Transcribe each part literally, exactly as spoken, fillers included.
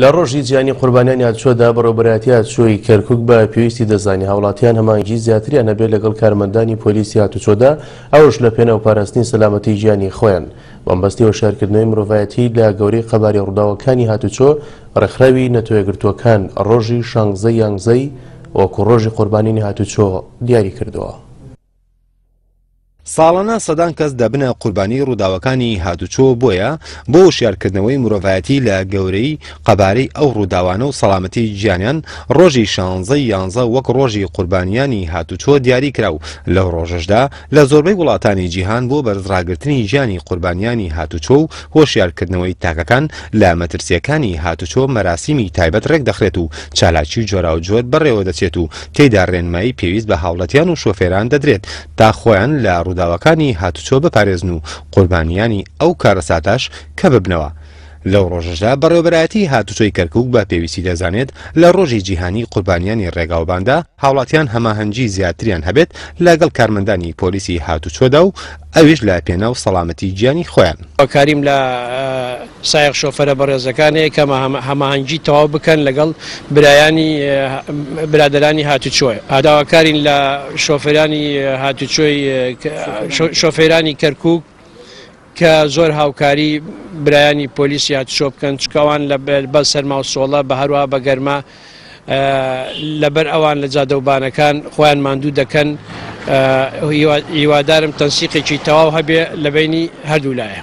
لە ڕۆژی جیهانی قوربانیانی هاتوچۆدا بەڕێوەبەرایەتی هاتوچۆی کەرکوک بە پێویستی دەزانی هاوڵاتیان هەماهەنگی زیاتریان هەبێت لەگەڵ کارمەندانی پۆلیسی هاتوچۆدا، ئەوش لە پێناو پاراستنی سەلامەتی گیانی خۆیان. بەمبەستی هۆشیارکردنەوەی مرۆڤایەتی لە گەورەی قەباری ڕووداوەکانی هاتوچۆ، ڕێکخراوی نەتەوەیەکگرتووەکان ڕۆژی شانزەی یانزەی وەکو ڕۆژی قوربانیانی هاتوچۆ دیاری کردووە. ساڵانە سەدان کەس دەبنە قوربانی ڕووداوەکانی هاتوچۆ، بۆیە بۆ هۆشیارکردنەوەی مرۆڤایەتی لە گەورەی قەبارەی ئەو ڕووداوانە و سەلامەتی گیانیان، ڕۆژی شانزەی یانزە وەک ڕۆژی قوربانیانی هاتوچۆ دیاری کرا و لەو ڕۆژەشدا لە زۆربەی وڵاتانی جیهان بۆ بەرزڕاگرتنی گیانی قوربانیانی هاتوچۆ و هۆشیارکردنەوەی تاکەکان لە مەترسیەکانی هاتوچۆ مەراسیمی تایبەت ڕێک دەخرێت و چالاکی جۆراوجۆر بەڕێوە دەچێت و تێیدا ڕێنمایی پێویست بە هاوڵاتیان و شۆفێران دەدرێت تا خۆیان لە ڕووداوەکانی هاتوچۆ بپارێزن و قوربانیانی ئەو کارەساتاش کە ببنەوە. لەو ڕۆژەشدا بەڕێوەبەرایەتی هاتوچۆی کەرکوک بە پێویستی دەزانێت لە ڕۆژی جیهانی قوربانیانی ڕێگاوباندا هاوڵاتیان هەماهەنگی زیاتریان هەبێت لەگەڵ کارمەندانی پۆلیسی هاتوچۆدا و ئەویش لە پێناو سەلامەتی گیانی خۆیان. کاریم لە سایەق شۆفەرە بەڕێزەکانەیە کە هەماهەنگی تەواو بکەن لەگەڵ برایانی برادەرانی هاتوچۆی. داواکارین لە شۆفێرانی هاتوچۆی شۆفێرانی کەرکوک کە زۆر هاوکاری برایانی پۆلیسی هاتوچۆ بکەن، چکەوان لە بە سەرما و سۆڵە بە هەروە بە گەرما لەبەر ئەوان لە جادەوبانەکان خۆیان ماندوو دەکەن. هیوادارم تەنسیقێکی تەواو هەبێ لە بینی هەردوو لایە.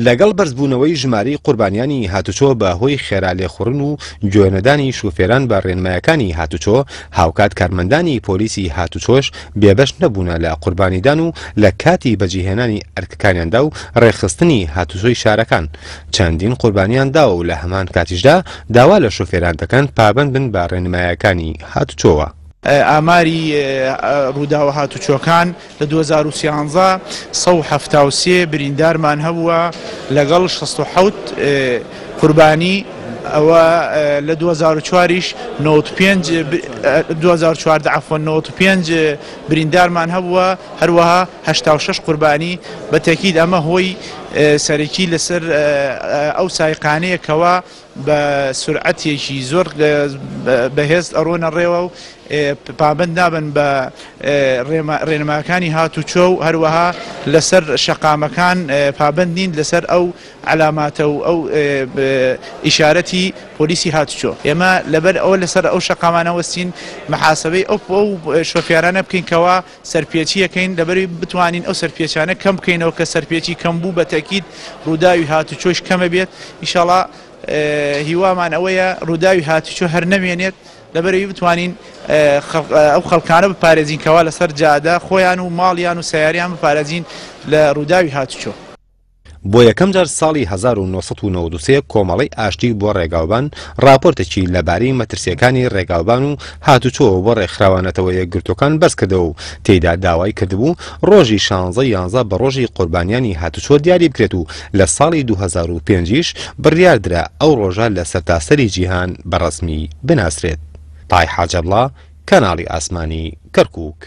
لەگەڵ بەرزبوونەوەی ژمارەی قوربانیانی هاتوچۆ بە هۆی خێرا لێخوڕن و گوێنەدانی شوفێران بە ڕێنمایەکانی هاتوچۆ، هاوکات کارمەندانی پۆلیسی هاتوچۆش بێبەش نەبوونە لە قوربانیدان و لە کاتی بەجیهێنانی ئەرکەکانیاندا و ڕێکخستنی هاتوچۆی شارەکان چەندین قوربانیان داوە و لە هەمان کاتیشدا داوا لە شوفێران دەکەن پابەند بن بە ڕێنمایەکانی هاتوچۆوە. ئاماری ڕووداوە هاتوچۆکان لە دوو هەزار و سیانزە سەد و حەفتا و سێ بریندارمان هەبووە لەگەڵ شەست و حەوت قوربانی، ئەوە لە دوو هەزار و چواریش نەوەد و پێنج دوو هەزار و چواردە عەفوەن نەوەد و پێنج بریندارمان هەبووە، هەروەها هەشتا و شەش قوربانی. بە تەکید ئەمە هۆی سەرەکی لەسەر ئەو سایقانەیەکەوە بە سرعەتێکی زۆر بەهێز ئەڕۆنە ڕێوە و پابەند نابن بە ڕێنماکانی هاتوچۆ و هەروەها لەسەر شەقامەکان پابەند نین لەسەر ئەو علاماتە و ئەو ئیشارەتی پۆلیسی هاتوچۆ. ئێمە لەبەر ئەوە لەسەر ئەو شەقامانە وەستین محاسبەی ئەو شۆفیارانە بکەین کەوا سەرپێچیەکەین، لەبەروی بتوانین ئەو سەرپێچانە کەم بکەینەوە کە سەرپێچی کەم بوو بە تەکید ڕووداوی هاتوچۆش کەمە بێت. ئینشاڵڵا هیوامان ئەوەیە ڕووداوی هاتوچۆ هەر نەمێنێت، لەبەرەوەی بتوانین ئەو خەڵکانە بپارێزین کەوا لەسەر جادە خۆیان و ماڵیان و سیاریان بپارێزین لە ڕووداوی هاتوچۆ. بۆ یەکەم جار ساڵی هەزار و نۆ سەد و نەوەد و سێ کۆمەڵەی ئاشتی بۆ ڕێگاوبان راپۆرتێکی لەبارەی مەترسیەکانی ڕێگاوبان و هاتوچۆوە بۆ ڕێکخراوە نەتەوە یەکگرتووەکان بەرزکردەوە و تێیدا داوای کردبوو ڕۆژی شانزە یانزە بە ڕۆژی قوربانیانی هاتوچۆ دیاری بکرێت و لە ساڵی دوو هەزار و پێنج بڕیاردرا ئەو ڕۆژە لە سەرتاسەری جیهان بە ڕەسمی بناسرێت. تای حاجەبڵا، کەناڵی ئاسمانی کەرکوک.